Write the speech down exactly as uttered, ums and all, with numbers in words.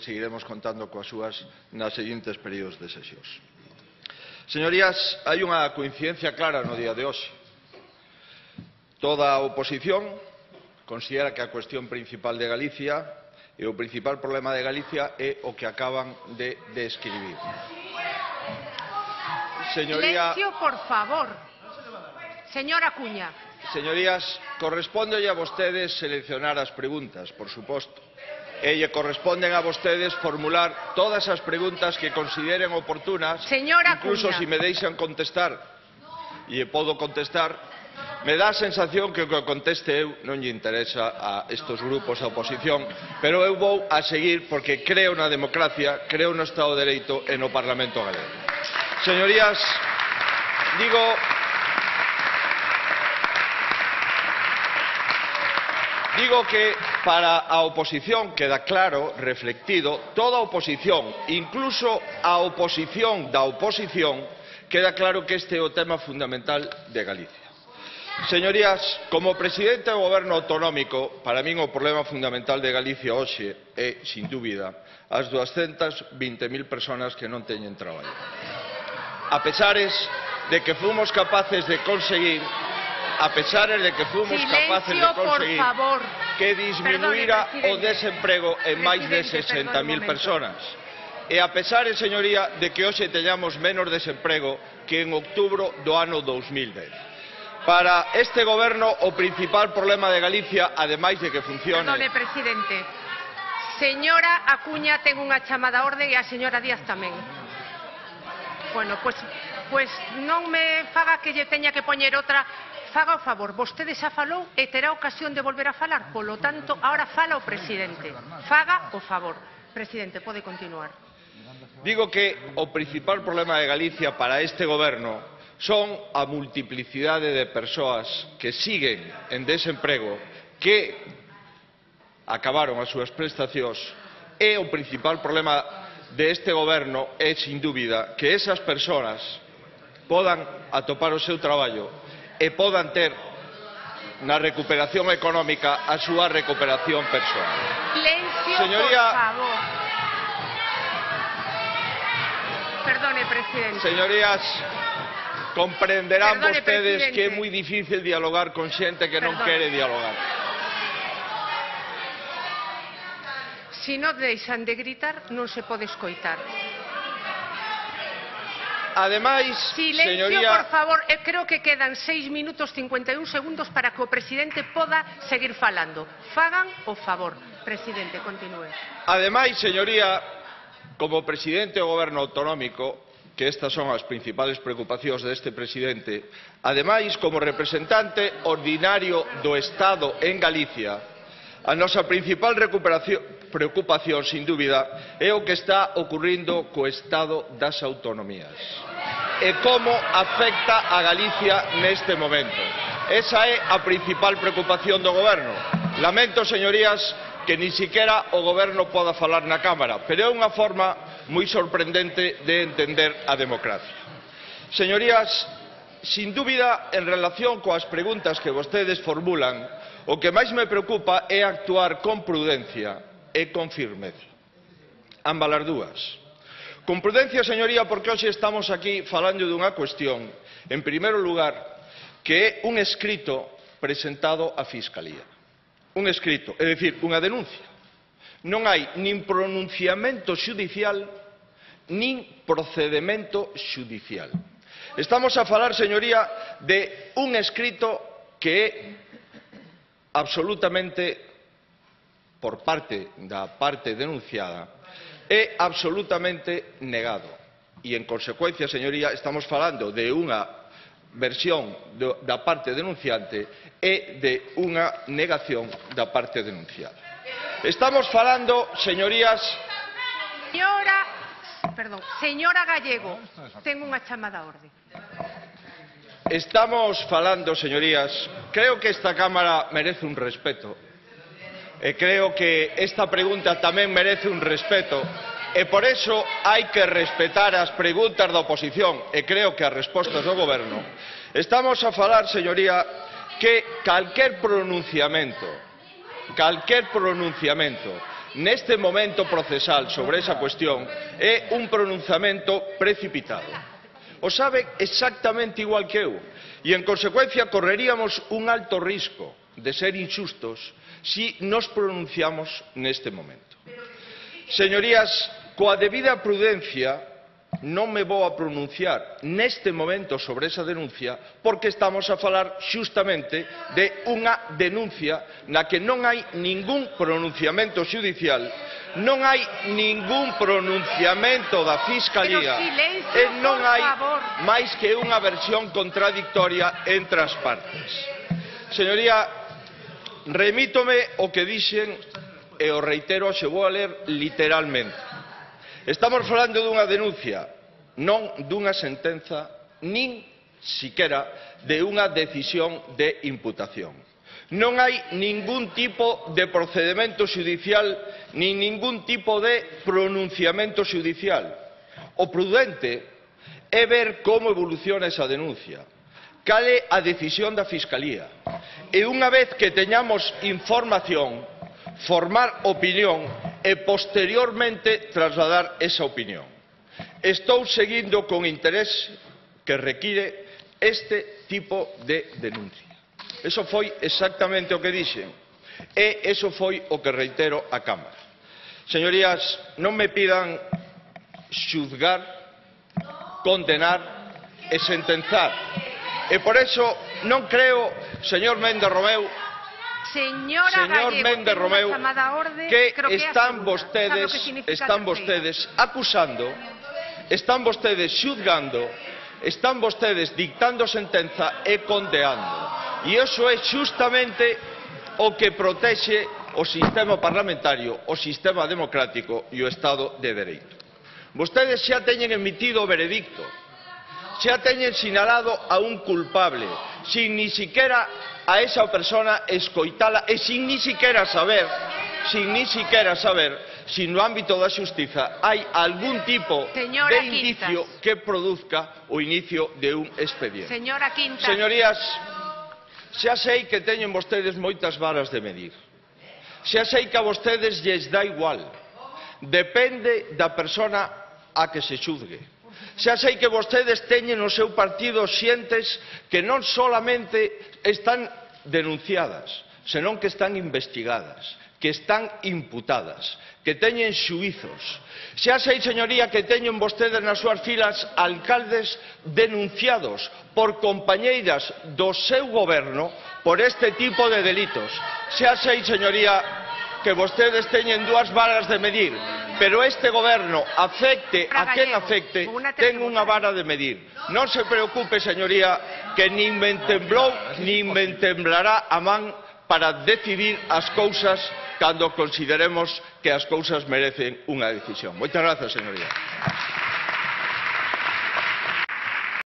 seguiremos contando coas súas nas seguintes períodos de sesións. Señorías, hai unha coincidencia clara no día de hoxe. Toda a oposición considera que a cuestión principal de Galicia e o principal problema de Galicia é o que acaban de describir. Señoría... Silencio, por favor. Señora Acuña. Señorías, correspóndelle a vostedes seleccionar as preguntas, por suposto. E lle corresponden a vostedes formular todas as preguntas que consideren oportunas, Señora incluso Acuña. se me deixan contestar, e podo contestar, me dá a sensación que o que conteste eu non lle interesa a estes grupos da oposición, pero eu vou a seguir porque creo na democracia, creo no Estado de Dereito e no Parlamento galego. Señorías, digo... Digo que para a oposición queda claro, reflectido, toda a oposición, incluso a oposición da oposición, queda claro que este é o tema fundamental de Galicia. Señorías, como presidente do Goberno autonómico, para min o problema fundamental de Galicia hoxe é, sin dúbida, as duascentas vinte mil persoas que non teñen traballo. A pesares de que fomos capaces de conseguir a pesar de que fomos capaces de conseguir que disminuira o desemprego en máis de sesenta mil persoas. E a pesar, señoría, de que hoxe teñamos menos desemprego que en outubro do ano dous mil dez. Para este goberno, o principal problema de Galicia, ademais de que funcione... Perdone, presidente. Señora Acuña ten unha chamada a orde e a señora Díaz tamén. Bueno, pois, pois non me faga que lle teña que poñer outra... Faga o favor, vostede xa falou e terá ocasión de volver a falar, polo tanto, ahora fala o presidente. Faga o favor. Presidente, pode continuar. Digo que o principal problema de Galicia para este goberno son a multiplicidade de persoas que siguen en desemprego, que acabaron as súas prestacións, e o principal problema deste goberno é, sin dúbida, que esas persoas podan atopar o seu traballo e podan ter na recuperación económica a súa recuperación persoal. Silencio, Señoría, por favor. Perdone, presidente. Señorías, comprenderán Perdone, vostedes presidente. que é moi difícil dialogar con xente que non Perdone. quere dialogar. Si non deixan de gritar, non se pode escoitar. Ademais, Silencio, señoría, por favor. Eh, creo que quedan seis minutos cincuenta e un segundos para que o presidente poda seguir falando. Fagan o favor. Presidente, continúe. ademais, señoría, como presidente do Goberno autonómico, que estas son as principales preocupacións deste presidente, ademais, como representante ordinario do Estado en Galicia, a nosa principal recuperación preocupación, sin dúbida, é o que está ocurrindo co Estado das autonomías e como afecta a Galicia neste momento. Esa é a principal preocupación do Goberno. Lamento, señorías, que ni siquiera o Goberno poda falar na Cámara, pero é unha forma moi sorprendente de entender a democracia. Señorías, sin dúbida, en relación coas preguntas que vostedes formulan, o que máis me preocupa é actuar con prudencia e con firmeza. Ambas as dúas. Con prudencia, señoría, porque hoxe estamos aquí falando dunha cuestión, en primeiro lugar, que é un escrito presentado á Fiscalía. Un escrito, é dicir, unha denuncia. Non hai nin pronunciamento xudicial, nin procedemento xudicial. Estamos a falar, señoría, de un escrito que é absolutamente, por parte da parte denunciada, é absolutamente negado. E, en consecuencia, señoría, estamos falando de unha versión do, da parte denunciante e de unha negación da parte denunciada. Estamos falando, señorías... Señora, perdón, señora Gallego, ten unha chamada a orde. Estamos falando, señorías, creo que esta Cámara merece un respeto. E creo que esta pregunta tamén merece un respeto. E por eso hai que respetar as preguntas da oposición e creo que as respostas do Goberno. Estamos a falar, señoría, que calquer pronunciamento, calquer pronunciamento neste momento procesal sobre esa cuestión é un pronunciamento precipitado. O sabe exactamente igual que eu e, en consecuencia, correríamos un alto risco de ser inxustos si nos pronunciamos neste momento. Señorías, coa debida prudencia, non me vou a pronunciar neste momento sobre esa denuncia porque estamos a falar xustamente de unha denuncia na que non hai ningún pronunciamento xudicial, non hai ningún pronunciamento da Fiscalía e non hai máis que unha versión contradictoria entre as partes. Señoría, remítome o que dixen e o reitero, xe vou a ler literalmente. Estamos falando dunha denuncia, non dunha sentenza, nin siquera de unha decisión de imputación. Non hai ningún tipo de procedemento xudicial nin ningún tipo de pronunciamento xudicial. O prudente é ver como evoluciona esa denuncia, cal é a decisión da Fiscalía, e unha vez que teñamos información, formar opinión e posteriormente trasladar esa opinión. Estou seguindo con interés que require este tipo de denuncia. Eso foi exactamente o que dixen e eso foi o que reitero á Cámara. Señorías, non me pidan xuzgar, condenar e sentenzar. E por eso non creo, señor Méndez Romeu, Señora señor Gallego, Méndez Romeu, orde, que, que están vostedes, están vostedes acusando, están vostedes xuzgando, están vostedes dictando sentenza e condeando. E iso é xustamente o que protexe o sistema parlamentario, o sistema democrático e o Estado de Dereito. Vostedes xa teñen emitido o veredicto, xa teñen sinalado a un culpable, sin ni siquiera a esa persona escoitala e sin ni siquiera saber, sin ni siquiera saber si no ámbito da xustiza hai algún tipo Señora de indicio Quintas. que produzca o inicio de un expediente. Señora Quintas. Señorías, xa sei que teñen vostedes moitas varas de medir. Xa sei que a vostedes lles dá igual. Depende da persona a que se xuzgue. Xa sei que vostedes teñen no seu partido xentes que non solamente están denunciadas, senón que están investigadas, que están imputadas, que teñen xuízos. Xa sei, señoría, que teñen vostedes nas súas filas alcaldes denunciados por compañeiras do seu goberno por este tipo de delitos. Xa sei, señoría, que vostedes teñen dúas varas de medir, pero este goberno, afecte a quen afecte, ten unha vara de medir. Non se preocupe, señoría, que nin me temblou nin me temblará a man para decidir as cousas cando consideremos que as cousas merecen unha decisión. Moitas grazas, señoría.